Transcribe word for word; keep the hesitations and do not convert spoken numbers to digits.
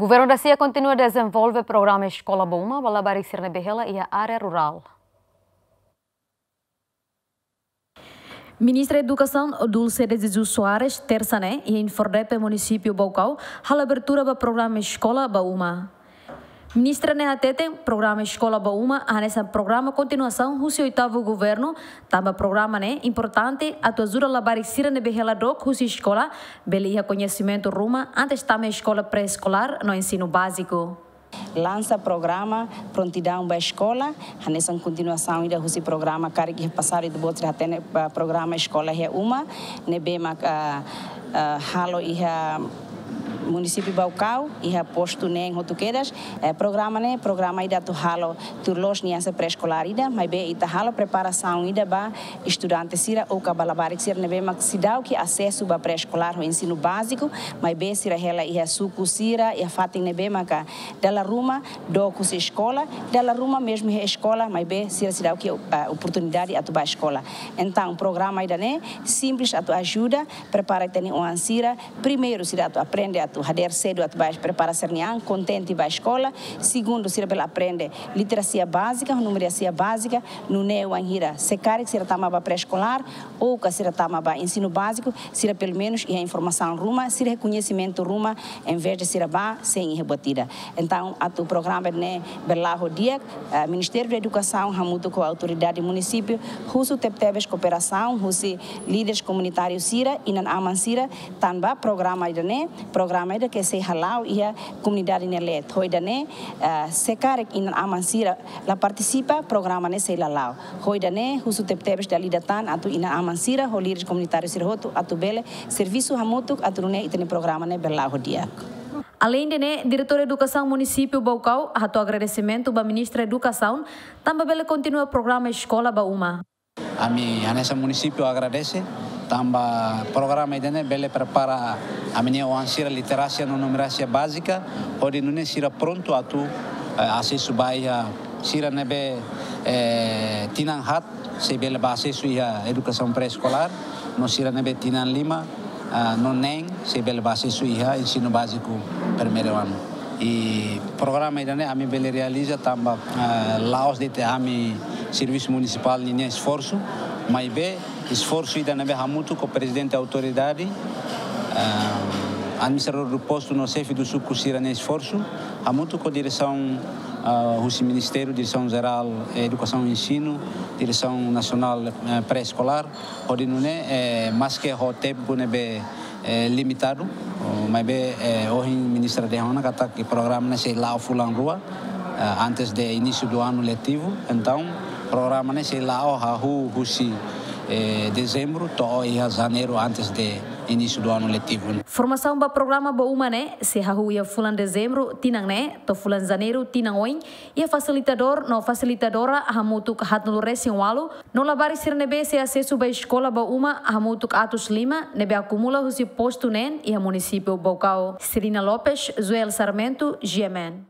Governu dasia kontinua dezenvolve programa Eskola ba Uma ba labarik sira ne'ebé hela iha área rurál. Ministra Edukasaun Dulce de Jesus Soares, tersa ne'e, iha INFORDEPE Munisípiu Baucau, halo abertura ba programa Eskola ba Uma. Ministra ne'e hateten, programa Eskola ba Uma hanesan programa kontinuasaun husi oitavu governu, tanba programa ne'e importante atu ajuda labarik sira ne'ebé hela dook husi eskola bele iha koñesimentu ruma antes tama eskola pré-eskolár no ensinu báziku. Lansa programa Prontidaun ba Eskola, hanesan kontinuasaun ida husi programa karik iha pasadu ita-boot sira hatene ba programa Eskola iha Uma, ne'ebé mak, ah, ah, halo iha Munisípiu Baucau, iha postu neen hotu kedas. Eh, programa ne'e, programa ida atu halo tuir loos niansa pré-eskolár ida, maibé ita halo preparasaun ida ba estudante sira ou ka ba labarik sira ne'ebé mak seidauk asesu ba pré-eskolár ho ensinu báziku, maibé sira hela iha suku sira, iha fatin ne'ebé maka dala ruma dook husi eskola, dala ruma mezmu iha eskola, maibé sira seidauk, ah, oportunidade atu ba eskola. Entaun, programa ida-ne'e simples atu ajuda, prepara ita-nia oan sira, primeiru, sira atu aprende atu hadeer sedu atu ba prepara sira-nia an, kontente ba eskola. Segundu, sira bele aprende literasia bázika, numerasia bázika, nune'e wainhira, se karik sira tama ba pré-eskolár, ou ka sira tama ba ensinu báziku, sira pelumenus iha informasaun ruma, sira iha koñesimentu ruma, envezde sira bá sein iha buat ida. Entaun, atu programa ne'e bele la'o ho di'ak, eh, Ministériu da Edukasaun hamutuk ho autoridade munisípiu, husu tebetebes kooperasaun husi líderes komunitáriu sira, inan-aman sira, tanba programa ida-ne'e, programa ida ke sei hala'o iha komunidade nia leet. Ho ida-ne'e, eh, se karik inan-aman sira la partisipa, programa ne'e sei la la'o. Ho ida-ne'e, husu tebetebes dala ida tan atu inan-aman sira ho líderes komunitáriu sira hotu atu bele servisu hamutuk atu nune'e ita-nia programa ne'e bele la'o ho di'ak. Aleinde ne'e, Diretór Edukasaun Munisípiu Baucau hato'o agradesimentu ba Ministra Edukasaun, tanba bele kontinua programa Eskola ba Uma. Ami hanesan munisípiu agradese, tanba programa ida-ne'e bele prepara ami-nia oan sira literasia no numerasia bázika, hodi nune'e sira prontu atu, eh, asesu ba iha sira ne'ebé, eh, tinan haat, sei bele ba asesu iha edukasaun pré-eskolár, no sira ne'ebé tinan lima, ah, no neen, sei bele ba asesu iha ensinu báziku primeiru anu. I programa ida-ne'e ami bele realiza tanba, ah, la'ós de'it ami servisu munisipál ninia esforsu, maibé esforsu ida ne'ebé hamutuk ho prezidente autoridade, ah, administradór do postu no xefe do suku sira-nia esforsu, hamutuk ho diresaun, ah, husi Ministériu, Diresaun Jerál Edukasaun Ensinu, Diresaun Nasionál, eh, Pré-Eskolár, hodi nune'e, eh, maske ho tempu ne'ebé, eh, limitadu, oh, maibé, eh, ohin ministra dehan ona katak programa ne'e sei la'o fulan rua, eh, antes de início do ano letivo. Entaun, programa ne'e sei la'o hahú husi, eh, dezembru to'o iha janeiru antes de início do ano letivo. Formasaun ba programa ba uma ne'e sei hahú iha fulan dezembru tinan ne'e to'o fulan janeiru tinan oin, iha fasilitadór no fasilitadora hamutuk haatnulu-resin-ualu, no labarik sira ne'ebé sei asesu ba eskola ba uma hamutuk atus lima, ne'ebé akumula husi postu neen iha munisípiu Baucau. Serina Lopes, Joel Sarmento, G M N.